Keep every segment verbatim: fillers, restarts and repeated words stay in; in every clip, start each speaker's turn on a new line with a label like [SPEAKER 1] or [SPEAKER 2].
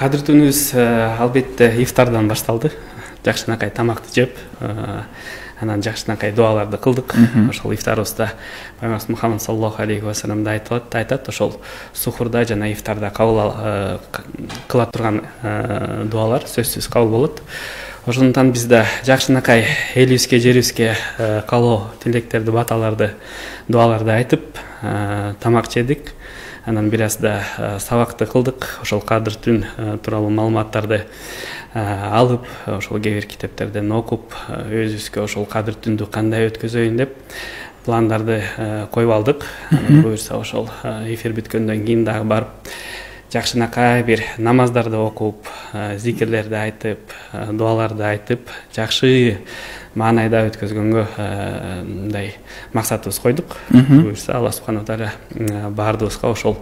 [SPEAKER 1] Кадыртүүнүбүз албетте ифтардан башталды. Жакшынакай тамакты жеп, анан жакшынакай дуаларды кылдык. Ошол ифтарыбызда Пайгамбарыбыз Мухаммад саллаллаху алейхи ва саллям да айтат, айтат ошол сухурда жана ифтарда кабыл кыла турган дуалар сөзсүз кабыл болот. Ошондуктан биз да жакшынакай элибизге, жерибизге каалоо тилектерди, баталарды, дуаларды айтып, тамак жедик. Анан бир аз да сабакты кылдык. Ошол кадыр түн тууралуу маалыматтарды алып, ошол кээ бир китептерден окуп, өзүбүзгө ошол кадыр түндү кандай өткөзөйүн деп пландарды коюп алдык. Буюрса ошол эфир бүткөндөн кийин дагы барып жакшынакай бир намаздарды окуп, зикирлерди айтып, дуаларды айтып, жакшы маанайда өткөзгөнгө мындай максатыбыз койдук. Буюрса Алла субхана тааля баардыгыбызга ошол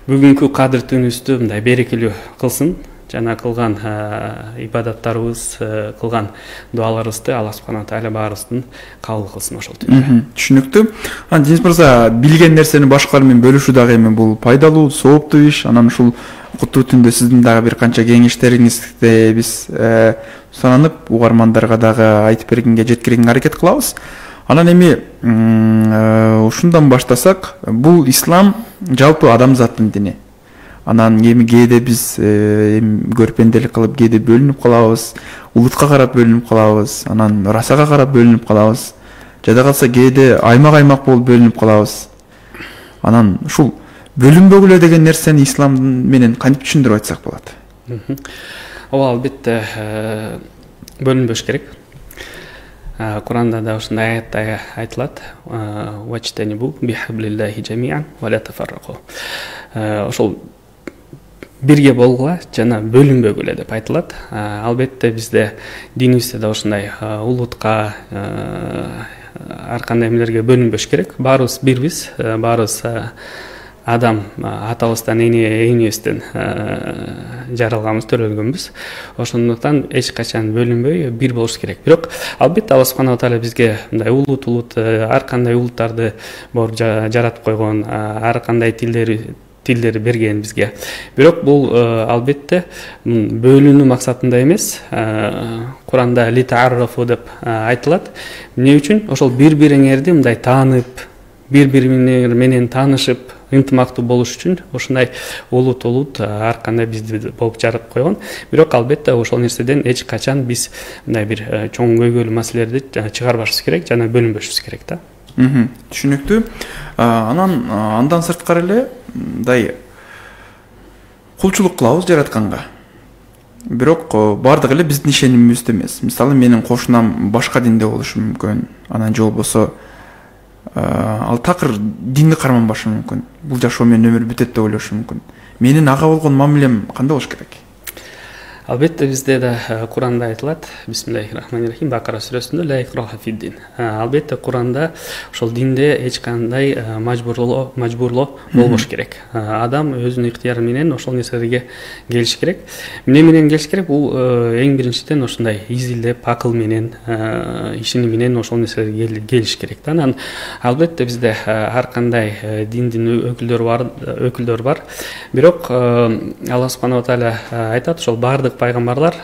[SPEAKER 1] бүгүнкү кадыр түнүбүздү мындай берекелүү кылсын. Жана кылган ибадаттарыбыз, кылган дуаларыбызды Алла субхана тааля баарыбыздын кабыл кылсын ошол түндө.
[SPEAKER 2] Түшүнүктүү. Анан Дениз мырза, билген нерсени башкалар менен бөлүшүү дагы эми бул пайдалуу, сооптуу иш. Анан ушул куттуу түндө сиздин дагы бир канча кеңештериңизди биз сананып, угармандарга дагы айтып бергенге, жеткиргенге аракет кылабыз. Анан эми ушундан баштасак, бул ислам жалпы адамзаттын дини. Анан эми кээде биз эми көрпенделик кылып кээде бөлүнүп калабыз, улутка карап бөлүнүп калабыз, анан расага карап бөлүнүп калабыз. Жада калса кээде аймак-аймак болуп бөлүнүп калабыз. Анан ушул бөлүнбөгүлө деген нерсени ислам менен кантип түшүндүрүп айтсак болот?
[SPEAKER 1] Ооба, албетте бөлүнбөш керек. Куранда да ушундай аятта айтылат: "Вачтанибу бихаблиллахи жамиан ва ла тафарраку". Ошол бирге болгула жана бөлүнбөгүлө деп айтылат. Албетте бизде динибизде да ушундай улутка, ар кандай эмелерге бөлүнбөш керек. Баарыбыз бирбиз, баарыбыз адам атабыздан, энебизден жаралганбыз, төрөлгөнбүз. Ошондуктан эч качан бөлүнбөй бир болуш керек. Бирок албетте Алла субхана тааля бизге мындай улут улут ар кандай улуттарды жаратып койгон, ар кандай тилдери тилдери берген бизге. Бирок бул албетте бөлүнүү максатында эмес. Куранда литааррафу деп айтылат. Эмне үчүн? Ошол бири-бириңерди мындай таанып, бири-бириңер менен таанышып, ынтымактуу болуш үчүн ушундай улут улут ар кандай бизди болуп жаратып койгон. Бирок албетте ошол нерседен эч качан биз мындай бир чоң көйгөйлүү маселелерди чыгарбашыбыз керек жана бөлүнбөшүбүз керек да.
[SPEAKER 2] Түшүнүктүү. Анан андан сырткары эле мындай кулчулук кылабыз жаратканга. Бирок бардыгы эле биздин ишенимибизде эмес. Мисалы, менин кошунам башка динде болушу мүмкүн. Анан же болбосо ал такыр динди карманбашы мүмкүн. Бул жашоо менен өмүр бүтөт деп ойлошу мүмкүн. Менин ага болгон мамилем кандай болуш керек?
[SPEAKER 1] Албетте бизде да Куранда айтылат: Бисмиллахир-рахманир-рахим, Бакара сүрөсүндө ла икраха фид-дин. Албетте Куранда ошол динде эч кандай мажбурлоо, мажбурлоо болбош керек. Адам өзүнүн ыктыяры менен ошол нерселерге келиш керек. Эмне менен келиш керек? Бул эң биринчиден ошондой изилдеп, акыл менен, ишени менен ошол нерселерге келиш керек да. Анан албетте бизде ар кандай диндин өкүлдөрү бар, өкүлдөр бар. Бирок Алла субхана тааля айтат, ошол бардык пайгамбарлар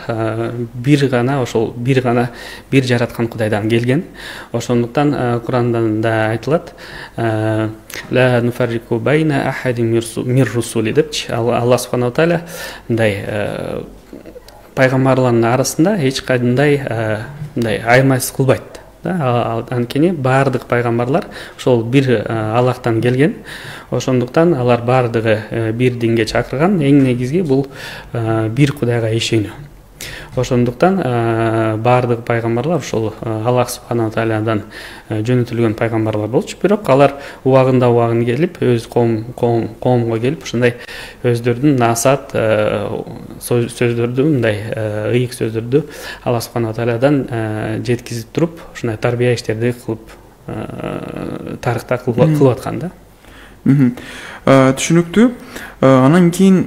[SPEAKER 1] бир гана ошол бир гана бир жараткан Кудайдан келген. Ошондуктан Куранда да айтылат: ла нуфаррику байна ахадин мир русули депчи. Алла субхана тааля мындай пайгамбарлардын арасында эч кандай мындай аймайсыз кылбайт. Анткени бардык пайгамбарлар ошол бир Аллахтан келген. Ошондуктан алар бардыгы бир динге чакырган. Эң негизги бул бир Кудайга ишенүү. Ошондуктан бардык пайгамбарлар ошол Аллах субхана таалядан жөнөтүлгөн пайгамбарлар болчу. Бирок алар убагында убагын келип, өз коом коомго келип, ушундай өздөрүнүн насаат сөздөрдү, мындай ыйык сөздөрдү Аллах субхана таалядан жеткизип туруп, ушундай тарбия иштерди кылып, тарыхта кылып аткан да.
[SPEAKER 2] Түшүнүктүү. Анан кийин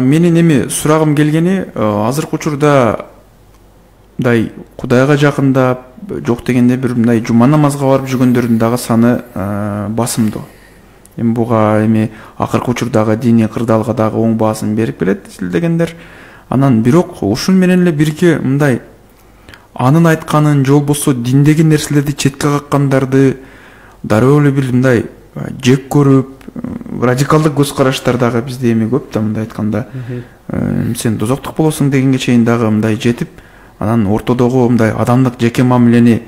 [SPEAKER 2] менин эми сурагым келгени, азыркы учурда мындай Кудайга жакындап, жок дегенде бир мындай жума намазга барып жүргөндөрдүн дагы саны басымдуу. эми буга эми акыркы учурдагы диний кырдаалга дагы оң баасын берип келет изилдегендер. Анан бирок ушун менен эле бирге мындай анын айтканын же болбосо диндеги нерселерди четке каккандарды дароо эле бир мындай жек көрүп, радикалдык көз караштар дагы бизде эми көп да, мындай айтканда сен дозоктук болосуң дегенге чейин дагы мындай жетип, анан ортодогу мындай адамдык жеке мамилени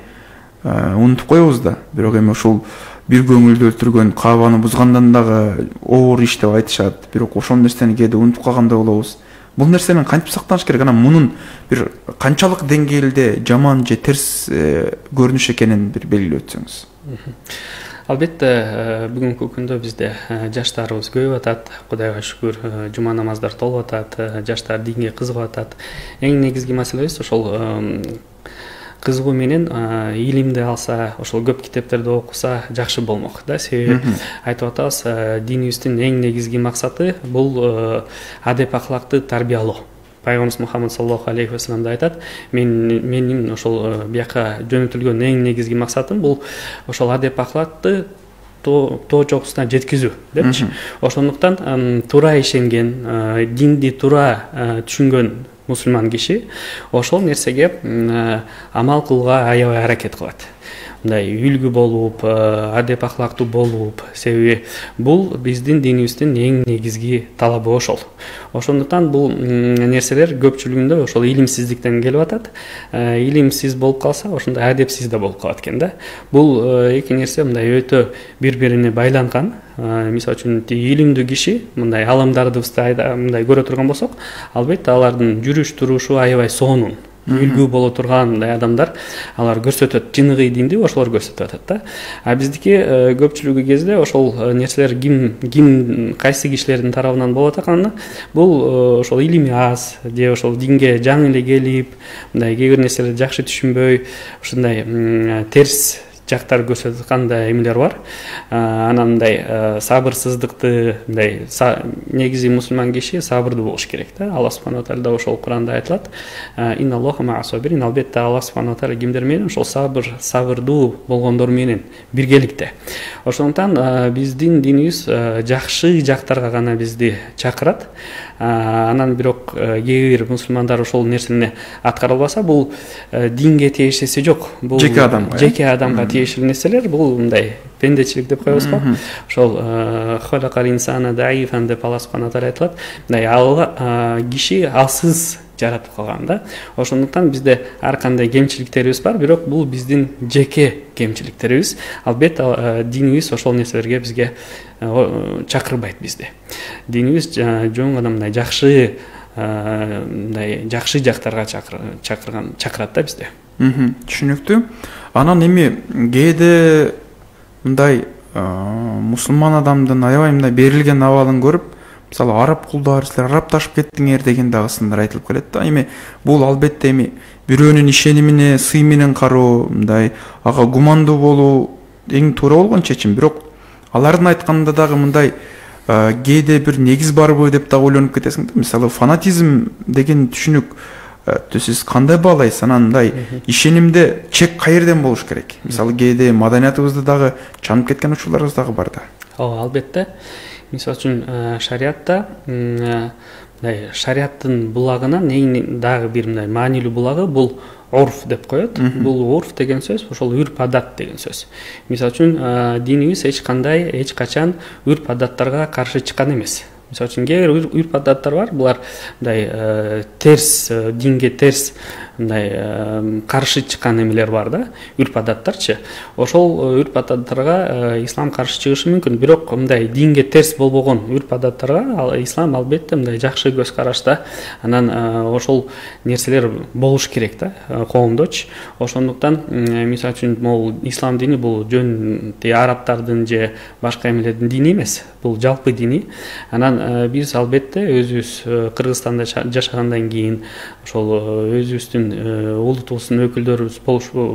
[SPEAKER 2] унутуп коебуз да. Бирок эми ушул бир көңүлдү өлтүргөн, каабаны бузгандан дагы оор иш деп айтышат. Бирок ошол нерсени кээде унутуп калгандай болобуз. Бул нерсенин кантип сактаныш керек? Анан мунун бир канчалык деңгээлде жаман же терс көрүнүш экенин бир белгилеп өтсөңүз.
[SPEAKER 1] Албетте, бүгүнкү күндө бизде жаштарыбыз көбөйүп атат. Кудайга шүгүр, жума намаздар толуп атат, жаштар динге кызыгып атат. Эң негизги маселебиз ошол кызыгуу менен илимди алса, ошол көп китептерди окуса жакшы болмок да. Себеби айтып атабыз, динибиздин эң негизги максаты бул адеп акылакты тарбиялоо. Пайгамбарыбыз Мухаммад саллаллаху алейхи ва саллям да айтат, мен менин ошол бияка жөнөтүлгөн эң негизги максатым бул ошол адеп акылакты тоо чокусуна жеткизүү депчи. Ошондуктан туура ишенген, динди туура түшүнгөн мусулман киши ошол нерсеге амал кылууга аябай аракет кылат. Мындай үлгү болуп, адеп акылактуу болуп, себеби бул биздин динибиздин эң негизги талабы ошол. Ошондуктан бул нерселер көпчүлүгүндө ошол илимсиздиктен келип атат. Илимсиз болуп калса, ошондой адепсиз да болуп калат экен да. Бул эки нерсе мындай өтө бири-бирине байланган. Мисалы үчүн илимдүү киши мындай аламдардыбызды мындай көрө турган болсок, албетте алардын жүрүш турушу аябай сонун, үлгү боло турган мындай адамдар алар көрсөтөт, жыныгый динди ошолор көрсөтүп атат да. А биздики көпчүлүгү кезде ошол нерселер ким ким кайсы кишилердин тарабынан болуп атканы бул ошол илими аз же ошол динге жаңы эле келип, мындай кээ бир нерселерди жакшы түшүнбөй, ушундай терс жактар көрсөтүп аткандай эмелер бар. Анан мындай сабырсыздыкты, мындай негизи мусулман киши сабырдуу болуш керек да. Аллах субханаху ва тааля ошол Куранда айтылат. Инналлаха ма'ас-сабирин. Албетте Аллах субханаху ва тааля кимдер менен? Ошол сабыр, сабырдуу болгондор менен биргеликте. Ошондуктан биздин динибиз жакшы жактарга гана бизди чакырат. Анан бирок кээ бир мусулмандар ошол нерсени аткара албаса, бул динге тиешеси жок. Бул жеке адамга, жеке адамга тиешелүү нерселер. Бул мындай пендечилик деп коебузго. Ошол халакал инсана даифан деп Аллах субханаху ва тааля айтылат. Мындай ал киши алсыз жаратып калган да. Ошондуктан бизде ар кандай кемчиликтерибиз бар, бирок бул биздин жеке кемчиликтерибиз. Албетте динибиз ошол нерселерге бизге чакырбайт бизди. Динибиз жөн гана мындай жакшы мындай жакшы жактарга чакырган чакырат да бизди.
[SPEAKER 2] Түшүнүктүү. Анан эми кээде мындай мусулман адамдын аябай мындай берилген абалын көрүп, мисалы араб кулдар, силер арабташып кеттиңер деген дагы сындар айтылып келет да. Эми бул албетте эми бирөөнүн ишенимине сый менен кароо, мындай ага гумандуу болуу эң туура болгон чечим. Бирок алардын айтканында дагы мындай кээде бир негиз барбы деп дагы ойлонуп кетесиң да. Мисалы фанатизм деген түшүнүк сиз кандай баалайсыз? Анан мындай ишенимде чек каерден болуш керек? Мисалы кээде маданиятыбызды дагы чанып кеткен учурларыбыз дагы бар да.
[SPEAKER 1] Ооба, албетте. Мисалы үчүн шариатта мындай шариаттын булагынан эң дагы бир мындай маанилүү булагы бул урф деп коет. Бул урф деген сөз ошол үрп адат деген сөз. Мисалы үчүн динибиз эч кандай эч качан үрп адаттарга каршы чыккан эмес. Мисалы үчүн кээ бир үрп адаттар бар, булар мындай терс, динге терс мындай каршы чыккан эмелер бар да, үрп адаттарчы. Ошол үрп адаттарга ислам каршы чыгышы мүмкүн, бирок мындай динге терс болбогон үрп адаттарга ислам албетте мындай жакшы көз карашта. Анан ошол нерселер болуш керек да коомдочу. Ошондуктан мисалы үчүн могул ислам дини бул жөн арабтардын же башка эмелердин дини эмес, бул жалпы дини. Анан биз албетте өзүбүз Кыргызстанда жашагандан кийин, ошол өзүбүздүн улутубуздун өкүлдөрү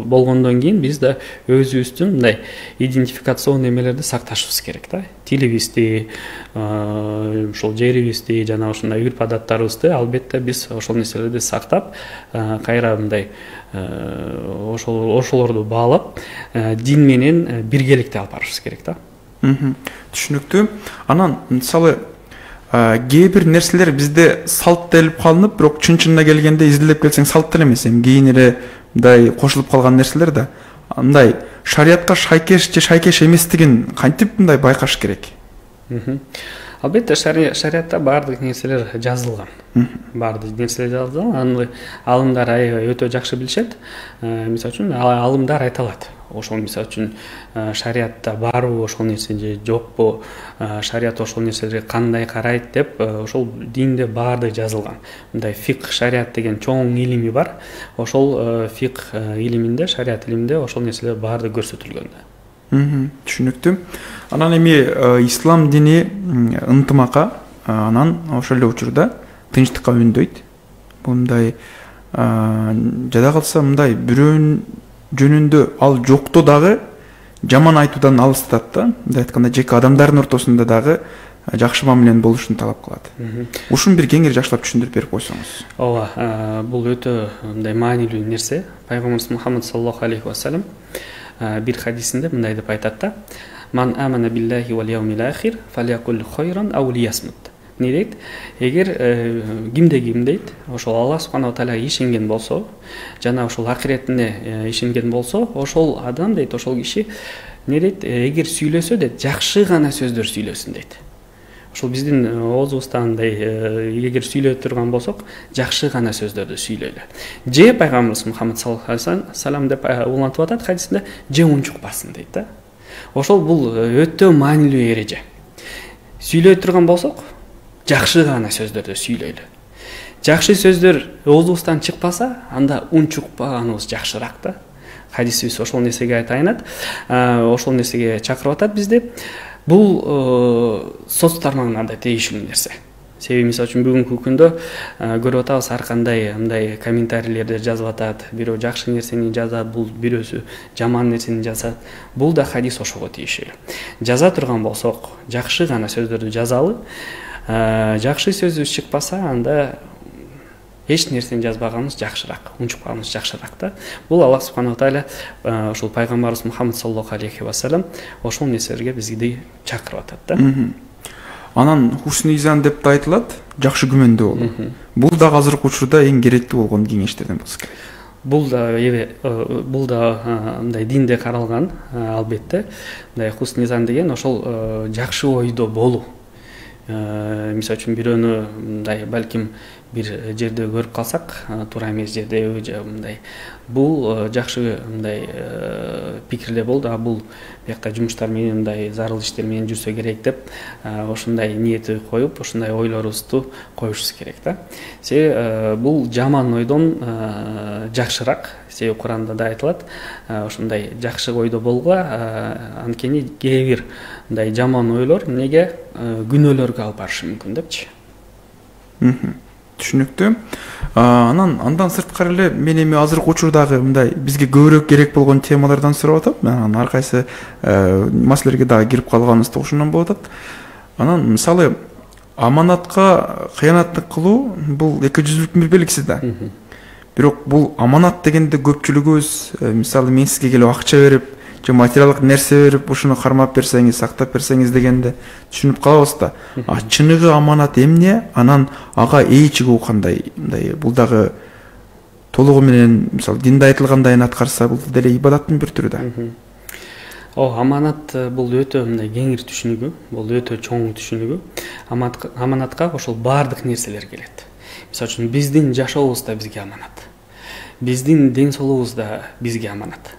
[SPEAKER 1] болгондон кийин биз да өзүбүздүн мындай идентификацион эмелерди сакташыбыз керек да. Тилибизди, ошол жерибизди, жана ушундай үрп адаттарыбызды албетте биз ошол нерселерди сактап, кайра мындай ошол ошолорду баалап, дин менен биргеликте алып барышыбыз керек да.
[SPEAKER 2] Түшүнүктүү. Анан мисалы кээ бир нерселер бизде салт делип калынып, бирок чын чынына келгенде изилдеп келсең салт деле эмес, эми кийин эле мындай кошулуп калган нерселер да. Андай шариятка шайкеш же шайкеш эместигин кантип мындай байкаш керек?
[SPEAKER 1] Албетте шариятта баардык нерселер жазылган. Баардык нерселер жазылган. Аны алымдар өтө жакшы билишет. Мисалы үчүн алымдар айта алат. Ошол мисалы үчүн шариятта барбы ошол нерсе же жокпу, шарият ошол нерселерге кандай карайт деп ошол динде баардык жазылган. Мындай фикх шарият деген чоң илими бар. Ошол фикх илиминде, шарият илиминде ошол нерселер баардык көрсөтүлгөн.
[SPEAKER 2] Түшүнүктүү. Анан эми ислам дини ынтымакка, анан ошол эле учурда тынчтыкка үндөйт. Бул мындай жада калса мындай бирөөнүн жөнүндө ал жокто дагы жаман айтуудан алыстат да. Мындай айтканда жеке адамдардын ортосунда дагы жакшы мамиленин болушун талап кылат. Ушуну бир кеңири жакшылап түшүндүрүп берип койсоңуз.
[SPEAKER 1] Ооба, бул өтө мындай маанилүү нерсе. Пайгамбарыбыз Мухаммад саллаллаху алейхи ва саллям бир хадисинде мындай деп айтат да: "Ман амана биллахи вал яумил ахир фалякул хайран ау лиясмут." Не дейт? Эгер кимде ким дейт, ошол Аллах субханаху ва тааля ишенген болсо, жана ошол акиретине ишенген болсо, ошол адам дейт, ошол киши не дейт? Эгер сүйлөсө дейт, жакшы гана сөздөр сүйлөсүн дейт. Ошол биздин оозубуздан мындай эгер сүйлөй турган болсок, жакшы гана сөздөрдү сүйлөйлү. Же пайгамбарыбыз Мухаммад саллаллаху алейхи ва саллям деп улантып атат хадисинде, же унчукпасын дейт да. Ошол бул өтө маанилүү эреже. Сүйлөй турган болсок, жакшы гана сөздөрдү сүйлөйлү. Жакшы сөздөр оозубуздан чыкпаса, анда унчукпаганыбыз жакшыраак да. Хадисибиз ошол нерсеге айтайынат, ошол нерсеге чакырып атат бизди. Бул соц тармагына да тийиштүү нерсе. Себеби мисалы үчүн бүгүнкү күндө көрүп атабыз, ар кандай мындай комментарийлерди жазып атат, бирөө жакшы нерсени жазат, бул бирөөсү жаман нерсени жазат. Бул да хадис ошого тийиштүү. Жаза турган болсок, жакшы гана сөздөрдү жазалы. Жакшы сөзүбүз чыкпаса, анда эч нерсени жазбаганыбыз жакшыраак, унчукпаганыбыз жакшыраак да. Бул Аллах субханаху тааля ошол пайгамбарыбыз Мухаммад саллаллаху алейхи ва саллям ошол нерселерге бизди чакырып атат да.
[SPEAKER 2] Анан хусн изан деп да айтылат, жакшы күмөндүү болуу. Бул да азыркы учурда эң керектүү болгон кеңештерден болсо керек.
[SPEAKER 1] Бул да бул да мындай динде каралган, албетте. Мындай хусн изан деген ошол жакшы ойдо болуу. Мисалы үчүн бирөөнү мындай балким бир жерде көрүп калсак, туура эмес жерде же мындай бул жакшы мындай пикирде болду, а бул бияка жумуштар менен мындай зарыл иштер менен жүрсө керек деп ошондой ниети коюп, ошондой ойлорубузду коюшубуз керек да. Себеби бул жаман ойдон жакшыраак. Себеби Куранда да айтылат, ошондой жакшы ойдо болгула, анткени кээ бир мындай жаман ойлор эмнеге күнөөлөргө алып барышы мүмкүн депчи.
[SPEAKER 2] Түшүнүктүү. Анан андан сырткары эле мен эми азыркы учурдагы мындай бизге көбүрөөк керек болгон темалардан сурап атам. Анан ар кайсы маселелерге дагы кирип калганыбызда ушундан болуп атат. Анан мисалы аманатка кыянаттык кылуу бул эки жүздүүлүктүн бир белгиси да. Бирок бул аманат дегенде көпчүлүгүбүз мисалы мен сизге келип акча берип, же материалдык нерсе берип, ушуну кармап берсеңиз, сактап берсеңиз дегенде түшүнүп калабыз да. А чыныгы аманат эмне? Анан ага ээ чыгуу кандай? Мындай бул дагы толугу менен мисалы динде айтылгандай аткарса, бул деле ибадаттын бир түрү да.
[SPEAKER 1] О, аманат бул өтө мындай кеңир түшүнүгү, бул өтө чоң түшүнүгү. Аманатка ошол баардык нерселер келет. Мисалы үчүн биздин жашообуз да бизге аманат. Биздин ден соолугубуз да бизге аманат.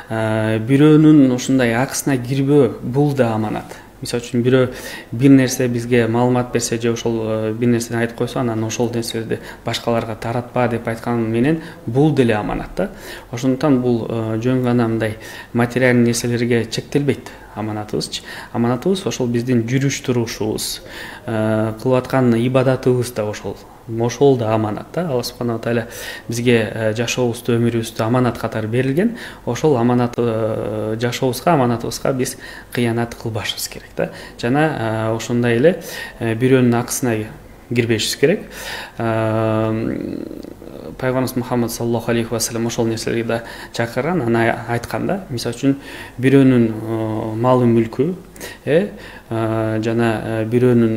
[SPEAKER 1] Бирөөнүн ушундай акысына кирбөө бул да аманат. Мисалы үчүн бирөө бир нерсе бизге маалымат берсе же ошол бир нерсени айтып койсо, анан ошол нерсени башкаларга таратпа деп айткан менен бул деле аманат да. Ошондуктан бул жөн гана мындай материалдык нерселерге чектелбейт аманатыбыз. Аманатыбыз ошол биздин жүрүш турушубуз, кылып аткан ибадатыбыз да ошол. Ошол да аманат да. Аллах субханаху тааля бизге жашообузду, өмүрүбүздү аманат катары берилген. Ошол аманат жашообузга, аманатыбызга биз кыянат кылбашыбыз керек да. Жана ошондой эле бирөөнүн акысына кирбешибиз керек. Пайгамбарыбыз Мухаммад саллаллаху алейхи ва саллям ошол нерселерге да чакырган, аны айткан да. Мисалы үчүн бирөөнүн малы мүлкү э жана бирөөнүн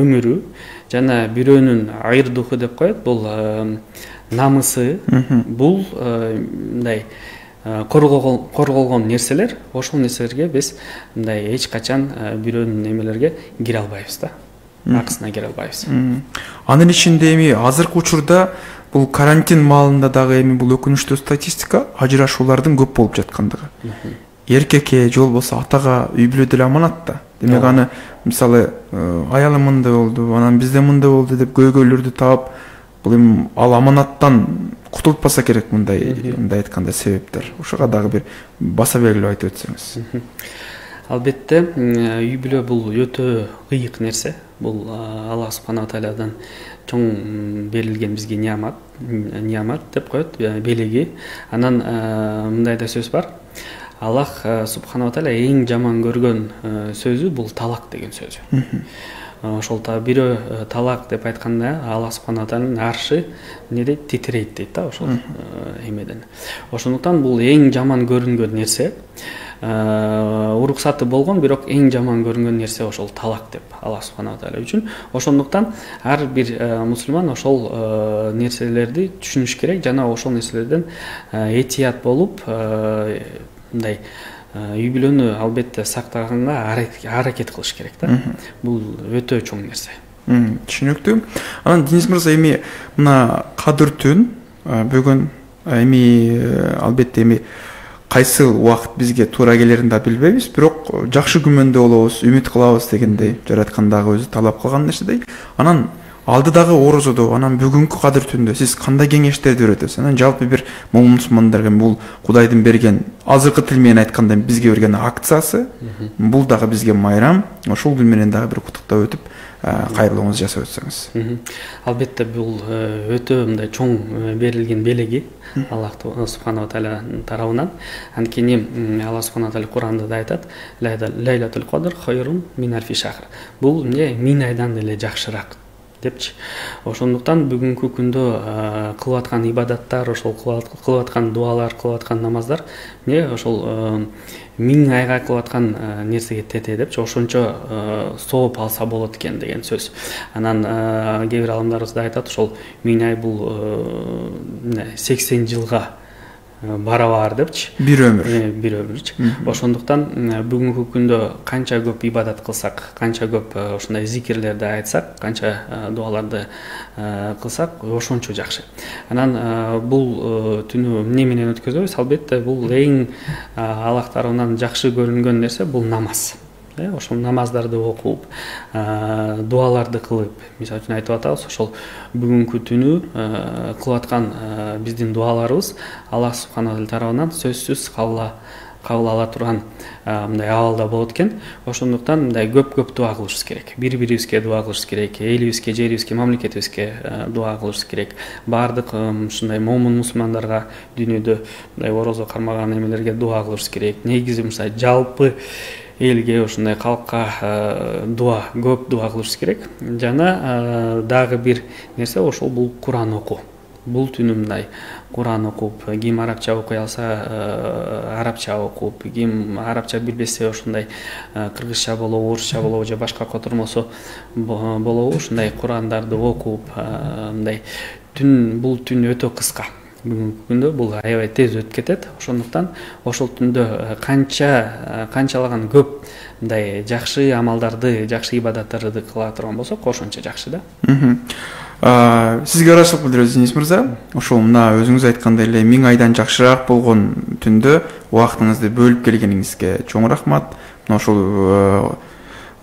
[SPEAKER 1] өмүрү жана бирөөнүн айырдуху деп коет, бул намысы, бул мындай корголгон нерселер. Ошол нерселерге биз мындай эч качан бирөөнүн эмелерге кире албайбыз да, акысына кире албайбыз.
[SPEAKER 2] Анын ичинде эми азыркы учурда бул карантин маалында дагы эми бул өкүнүчтүү статистика ажырашуулардын көп болуп жаткандыгы. Эркекке же болбосо атага үй бүлө деле аманат да. Демек аны мисалы аялым мындай болду, анан бизде мындай болду деп көйгөйлөрдү таап, бул эми ал аманаттан кутулпаса керек, мындай мындай айтканда себептер. Ошого дагы бир баса белгилеп айтып өтсөңүз.
[SPEAKER 1] Албетте, үй бүлө бул өтө кыйык нерсе. Бул Аллах субханала тааладан чоң берилген бизге ниямат, ниямат деп коет, белеги. Анан мындай да сөз бар. Аллах субханала таала эң жаман көргөн сөзү бул талак деген сөзү. Ошол та бирөө талак деп айтканда Аллах субханала тааланын аршы эмне дейт, титирейт дейт да ошол эмеден. Ошондуктан бул эң жаман көрүнгөн нерсе. Уруксаты болгон, бирок эң жаман көрүнгөн нерсе ошол талак деп Аллах субханала таала үчүн. Ошондуктан ар бир мусулман ошол нерселерди түшүнүш керек жана ошол нерселерден этият болуп, мындай үй бүлөнү албетте сактаганга аракет кылыш керек да. Бул өтө чоң нерсе.
[SPEAKER 2] Түшүнүктүү. Анан Денис мырза, эми мына кадыр түн бүгүн эми албетте эми кайсы убакыт бизге туура келерин да билбейбиз, бирок жакшы күмөндө болобуз, үмүт кылабыз дегендей, жараткан дагы өзү талап кылган нерседей. Анан алдыдагы орозодо, анан бүгүнкү кадыр түндө сиз кандай кеңештерди бересиз? Анан жалпы бир момун мусулмандарга бул Кудайдын берген, азыркы тил менен айтканда бизге берген акциясы, бул дагы бизге майрам. Ошол күн менен дагы бир куттуктап өтүп, кайрылууңузду жасап өтсөңүз.
[SPEAKER 1] Албетте бул өтө мындай чоң берилген белеги Аллах субханала тааlanын тарабынан. Анткени Аллах субханала таала Куранда да айтат: "Лайлатул кадр хайрун мин алфи шахр". Бул эмне, миң айдан деле жакшыраак депчи. Ошондуктан бүгүнкү күндө кылып аткан ибадаттар, ошол кылып аткан дуалар, кылып аткан намаздар эмне ошол миң айга кылып аткан нерсеге тете депчи, ошончо сооп алса болот экен деген сөз. Анан кээ бир аламдарыбыз да айтат, ошол миң ай бул сексен жылга барабар депчи.
[SPEAKER 2] Бир өмүр.
[SPEAKER 1] Бир өмүрчү. Ошондуктан бүгүнкү күндө канча көп ибадат кылсак, канча көп ошондой зикирлерди айтсак, канча дуаларды кылсак, ошончо жакшы. Анан бул түнү эмне менен өткөзөбүз? Албетте бул эң Аллах тарабынан жакшы көрүнгөн нерсе бул намаз. Ошол намаздарды окуп, дуаларды кылып, мисалы үчүн айтып атабыз, ошол бүгүнкү түнү кылып аткан биздин дуаларыбыз Аллах субханала тарабынан сөзсүз кабыл кабыл ала турган мындай абалда болот экен. Ошондуктан мындай көп-көп дуа кылышыбыз керек. Бири-бирибизге дуа кылышыбыз керек, элибизге, жерибизге, мамлекетибизге дуа кылышыбыз керек. Бардык ушундай момун мусулмандарга дүйнөдө мындай орозо кармаган эмелерге дуа кылышыбыз керек. Негизи мисалы жалпы элге, ошондой калкка дуа, көп дуа кылышыбыз керек. Жана дагы бир нерсе ошол бул Куран окуу. Бул түнү мындай Куран окуп, ким арабча окуй алса арабча окуп, ким арабча билбесе ошондой кыргызча болобу, орусча болобу же башка котормосо болобу, ошондой Курандарды окуп, мындай түн, бул түн өтө кыска. Бүгүнкү күндө бул аябай тез өтүп кетет. Ошондуктан ошол түндө канча канчалаган көп мындай жакшы амалдарды, жакшы ибадаттарды кыла турган болсок, ошончо жакшы да.
[SPEAKER 2] Сизге ыраазычылык билдиребиз, Денис мырза. Ошол мына өзүңүз айткандай эле миң айдан жакшыраак болгон түндө убактыңызды бөлүп келгениңизге чоң рахмат. Мына ошол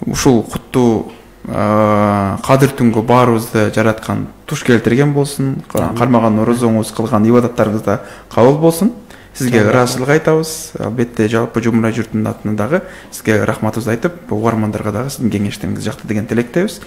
[SPEAKER 2] ушул куттуу кадыр түнгө баарыбызды жараткан туш келтирген болсун, кармаган орозоңуз, кылган ибадаттарыңыз да кабыл болсун. Сизге ыраазычылык айтабыз. Албетте жалпы Жумурай журтунун атынан дагы сизге рахматыбызды айтып, угармандарга дагы сиздин кеңештериңиз жакты деген тилектебиз.